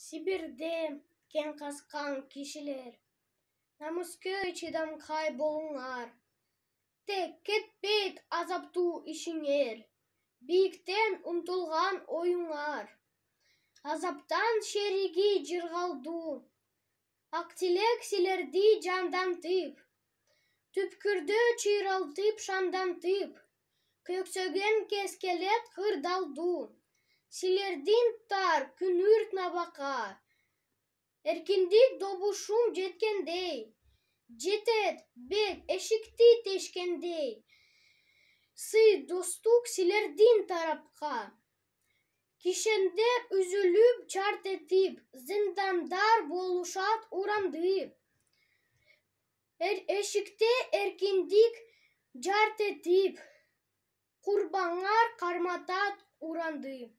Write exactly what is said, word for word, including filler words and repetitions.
Сибирде кен казкан кишилер, намыскөй чыдамкай болуңар. Тек кетпейт азаптуу ишиңер, бийиктен умтулган оюңар. Азаптан шериги жыргалдуу, ак тилек силерди жандантып, түпкүрдө чыйралтып шандантып, көксөгөн кескелет кырдалдуу. Силердин тар күнүрт набакка, эркиндик добушум жеткендей, жетет бет эшикти тешкендей. Сый достук силердин тарапка, кишендер үзүлүп чарт этип, зындандар болушат урандып. Эшикте эркиндик жарт этип, курбаңар карматат урандып.